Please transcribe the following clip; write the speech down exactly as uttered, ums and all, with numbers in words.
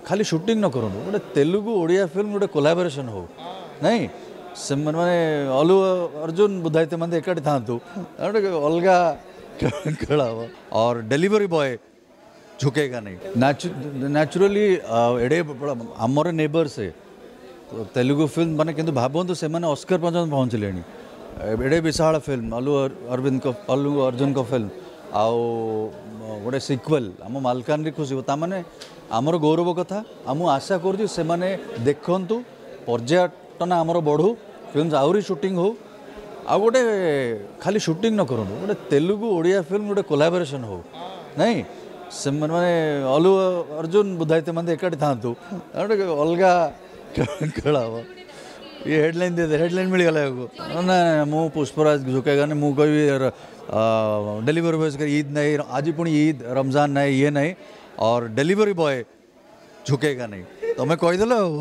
ଖାଲି ସୁଟିଂ ନ କରନ୍ତୁ, ଗୋଟେ ତେଲୁଗୁ ଓଡ଼ିଆ ଫିଲ୍ମ ଗୋଟେ କୋଲାବରେସନ୍ ହଉ। ନାଇଁ, ସେମାନେ ମାନେ ଅଲୁ ଅର୍ଜୁନ ବୁଦ୍ଧାଦିତ୍ୟ ମାନେ ଏକାଠି ଥାଆନ୍ତୁ, ଗୋଟେ ଅଲଗା ଖେଳ ହବ। और ଡେଲିଭରି ବୟ झुकेगा नहीं ନ୍ୟାଚୁରାଲି। ଏଡ଼େ ବଡ଼ ଆମର ନେବର ସେ ତେଲୁଗୁ ଫିଲ୍ମ ମାନେ, କିନ୍ତୁ ଭାବନ୍ତୁ ସେମାନେ ଅସ୍କର ପର୍ଯ୍ୟନ୍ତ ପହଞ୍ଚିଲେଣି। ଏଡ଼େ ବିଶାଳ ଫିଲ୍ମ ଅଲୁ ଅରବିନ୍ଦଙ୍କ, ଅଲ୍ଲୁ ଅର୍ଜୁନଙ୍କ ଫିଲ୍ମ, ଆଉ ଗୋଟେ ସିକ୍ୱେଲ୍ ଆମ ମାଲକାନଗିରି ଖୁସି, ତାମାନେ ଆମର ଗୌରବ କଥା। ଆଉ ମୁଁ ଆଶା କରୁଛି ସେମାନେ ଦେଖନ୍ତୁ, ପର୍ଯ୍ୟଟନ ଆମର ବଢ଼ୁ, ଫିଲ୍ମ ଆହୁରି ସୁଟିଂ ହଉ। ଆଉ ଗୋଟେ ଖାଲି ସୁଟିଂ ନ କରନ୍ତୁ, ଗୋଟେ ତେଲୁଗୁ ଓଡ଼ିଆ ଫିଲ୍ମ ଗୋଟେ କୋଲାବରେସନ୍ ହଉ। ନାଇଁ, ସେମାନେ ମାନେ ଅଲୁ ଅର୍ଜୁନ ବୁଦ୍ଧାଦିତ୍ୟ ମାନେ ଏକାଠି ଥାଆନ୍ତୁ, ଗୋଟେ ଅଲଗା ଖେଳ ହବ। ଇଏ ହେଡ଼ଲାଇନ୍ ଦେଇଦେ, ହେଡ଼ଲାଇନ୍ ମିଳିଗଲା ଆକୁ। ନା, ମୁଁ ପୁଷ୍ପରାଜ झुकेगा नहीं, ମୁଁ କହିବି ଡେଲିଭରି ବୟ ईद नहीं, ଆଜି ପୁଣି ईद ରମଜାନ ନାହିଁ, ଇଏ ନାହିଁ, और ଡେଲିଭରି ବୟ झुकेगा नहीं। ତମେ କହିଦେଲ ଆଉ।